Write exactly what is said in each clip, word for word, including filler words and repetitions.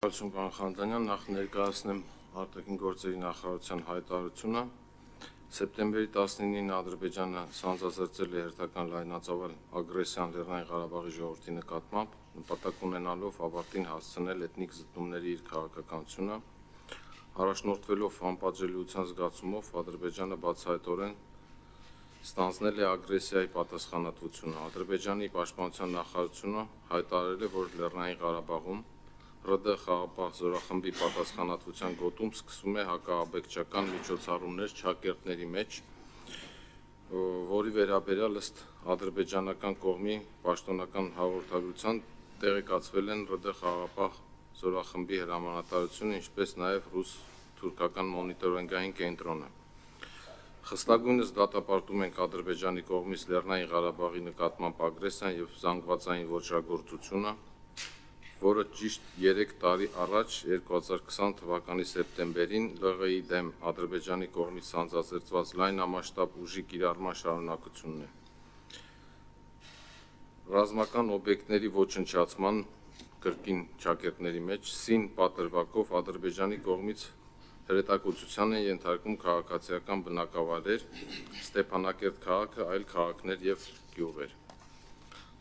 Շնորհակալություն պարոն Խանջանյան, նախ ներկայացնեմ արտաքին գործերի նախարարության հայտարարությունը։ Սեպտեմբերի տասնինին Ադրբեջանը սանձազերծել է հերթական լայնածավալ ագրեսիան Լեռնային Ղարաբաղի ժողովրդի նկատմամբ, նպատակ ունենալով ավարտին հասցնել էթնիկ զտումների իր քաղաքականությունը, առաջնորդվելով անպատժելիության զգացումով Ադրբեջանը բացահայտորեն ստանձնել է ագրեսիայի պատասխանատվությունը։ Ադրբեջանի պաշտպանության նախարարությունը հայտարարել է, որ Լեռնային Ղարաբաղում ՌԴ խաղաղապահ զորախմբի պատասխանատվության գոտում սկսվում է հակաաբեկչական միջոցառումներ Չակերտների մեջ, որի վերաբերյալ ըստ ադրբեջանական կողմի պաշտոնական հաղորդագրության տեղեկացվել են ՌԴ խաղաղապահ զորախմբի հրամանատարությունը, ինչպես նաև ռուս-թուրքական մոնիտորինգային կենտրոնը։ Խստագույնս դատապարտում ենք Ադրբեջանի կողմից Լեռնային Ղարաբաղի նկատմամբ ագրեսիան և զանգվածային ոճրագործությունը, որը ճիշտ երեք տարի առաջ երկու հազար քսան թվականի սեպտեմբերին ԼՂ-ի դեմ Ադրբեջանի կողմից սանձազերծված լայնամասշտաբ ուժի կիրառման շարունակությունն է։ Ռազմական օբյեկտների ոչնչացման կրկին Չակերտների մեջ սին պատրվակով Ադրբեջանի կողմից հրետակոծության են ենթարկվում քաղաքացիական բնակավայրեր, Ստեփանակերտ քաղաքը, այլ քաղաքներ և գյուղեր։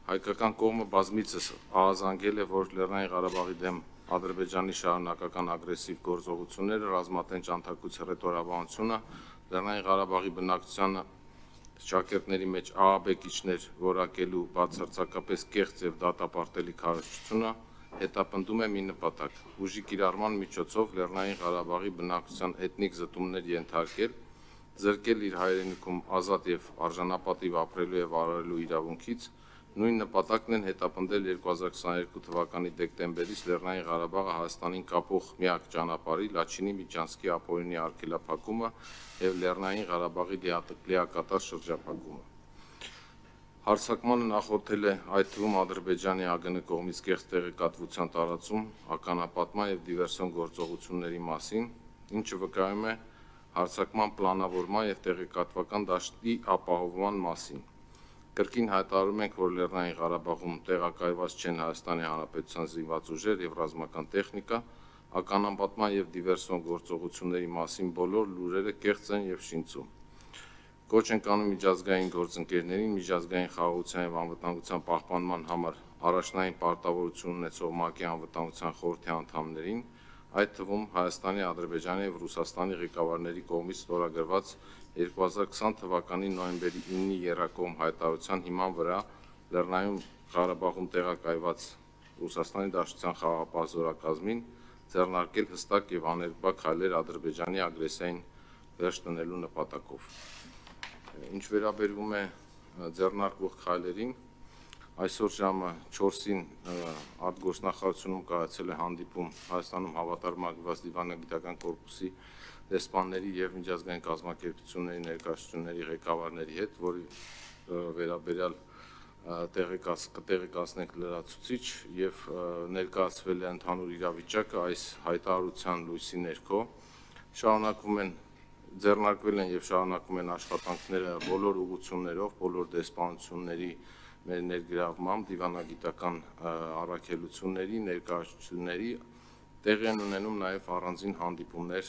Հայկական կողմը բազմիցս ահազանգել է, որ Լեռնային Ղարաբաղի դեմ Ադրբեջանի շարունակական ագրեսիվ գործողությունները, ռազմատենչ անթակույց հռետորաբանությունը, Լեռնային Ղարաբաղի բնակչությանը Չակերտների մեջ ահաբեկիչներ որակելու բացարձակապես կեղծ և դատապարտելի քարոզչությունը հետապնդում է մի նպատակ՝ ուժի կիրառման միջոցով Լեռնային Ղարաբաղի բնակչության էթնիկ զտումներ ենթարկել, զրկել իր հայրենիքում ազատ և արժանապատիվ ապրելու և վարելու իրավունքից, նույն նպատակն են հետապնդել երկու հազար քսաներկու թվականի դեկտեմբերից Լեռնային Ղարաբաղը Հայաստանին կապող միակ ճանապարհի Լաչինի միջանցքի ապօրինի արգելափակումը և Լեռնային Ղարաբաղի լիակատար շրջափակումը։ Հարձակմանը նախորդել է այդ թվում Ադրբեջանի ԱԳՆ կողմից կեղծ տեղեկատվության տարածում ականապատման և դիվերսիոն գործողությունների մասին, ինչը վկայում է հարձակման պլանավորման և տեղեկատվական դաշտի ապահովման մասին։ Կրկին հայտարարում ենք, որ Լեռնային Ղարաբաղում տեղակայված չեն Հայաստանի Հանրապետության զինված ուժեր և ռազմական տեխնիկա, ականապատման և դիվերսիոն գործողությունների մասին բոլոր լուրերը կեղծ են և շինծու։ Կոչ ենք անում միջազգային գործընկերներին միջազգային խաղաղության և անվտանգության պահպանման համար առաջնային պարտավորություն ունեցող ՄԱԿ-ի Անվտանգության խորհրդի անդամներին, այդ թվում Հայաստանի, Ադրբեջանի և Ռուսաստանի ղեկավարների կողմից ստորագրված երկու հազար քսան թվականի նոյեմբերի իննի եռակողմ հայտարարության հիման վրա Լեռնային Ղարաբաղում տեղակայված Ռուսաստանի Դաշնության խաղաղապահ զորակազմին ձեռնարկել հստակ և աներկբա քայլեր Ադրբեջանի ագրեսիային վերջ տնելու նպատակով։ Ինչ վերաբերում է ձեռնարկվող քայլերին, այսօր ժամը չորսին արտգործնախարարությունում կայացել է հանդիպում Հայաստանում հավատարմագրված դիվանագիտական կորպուսի դեսպանների և միջազգային կազմակերպությունների ներկայացուցիչների ղեկավարների հետ, որի վերաբերյալ կտեղեկացնենք լրացուցիչ և ներկայացվել է ընդհանուր իրավիճակը այս հայտարարության լույսի ներքո։ Շարունակվում են ձեռնարկվել են և շարունակվում են աշխատանքները բոլոր ուղղություններով, բոլոր դեսպանությունների մեր ներգրավմամբ դիվանագիտական առաքելությունների, ներկայացուցիչների, տեղի են ունենում նաև առանձին հանդիպումներ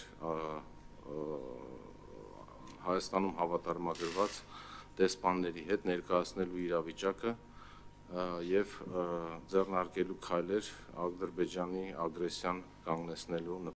Հայաստանում հավատարմագրված դեսպանների հետ ներկայացնելու իրավիճակը և ձեռնարկելու քայլեր Ադրբեջանի ագրեսիան կանգնեցնելու